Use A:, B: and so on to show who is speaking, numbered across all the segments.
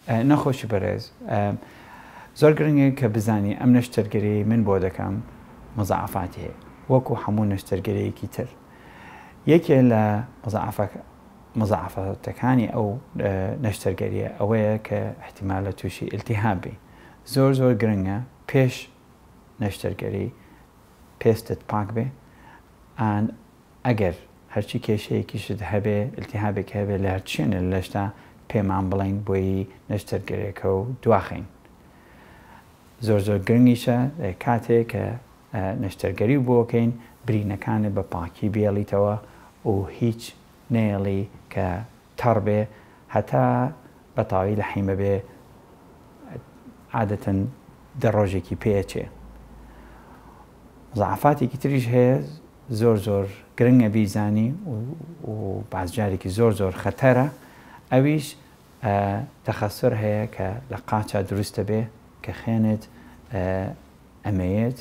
A: نەخۆشی بەرێز زۆر گرنگە کە بزانی ئەم نەشتەرگەریەی من بۆ دەکەم مزاعەفاتی هەیە وەکو هەموو نەشتەرگەریەکی تر یەکێ لە مزاعەفاتەکانی ئەو نەشتەرگەریە ئەوەیە کە احتیمالە تووشی التهاب بی زۆر زۆر گرنگە پێش نەشتەرگەری پێستت پاک بێ ئان ئەگەر هەرچی کێشەیەکیشت هەبێ التهابێک هەبێ لە هەرچ شوێنێ لە لەشتا پێمان بڵێین بۆی نەشتەرگەرێکە و دواخەین زۆر زۆر گرنگیشە کاتێ کە نەشتەرگەری و بۆکەین برینەکانت بە پاکی بێڵیتەوە و هیچ نەیەڵی کە تەڕ بێ هەتا بە تەواوی لەحیمە بێ عادەتەن دە ڕۆژێکی پێ ئەچێ. مزاعەفاتێکی تریش هەیە زۆر زۆر گرنگە بیزانی و باز جارێکی زۆر زۆر خەتەرە ئەویش تەخەسر هەیە کە لە قاچا دروست دەبێ کە خوێنت ئەمەیەت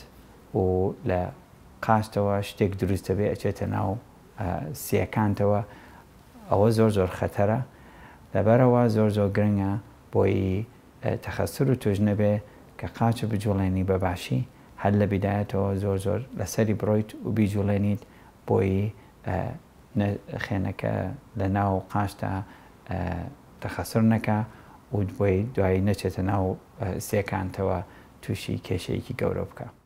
A: و لە قاچتەوە شتێک دروست دەبێ ئەچێتە ناو سیەکانتەوە ئەوە زۆر زۆر خەتەرە لەبەرئەوە زۆر زۆر گرنگە بۆی تەخەسور و توش نەبێ کە قاچ بجوڵێنی بە باشی هەر لە بیدایەتەوە زۆر زۆر لەسەری بڕۆیت و بیجوڵێنیت بۆی خوێنەکە لە ناو قاچتا تەخەسور نەکا و بۆی دوایی نەچێتە ناو سیەکانتەوە توشی کێشەیەکی گەورە بکا.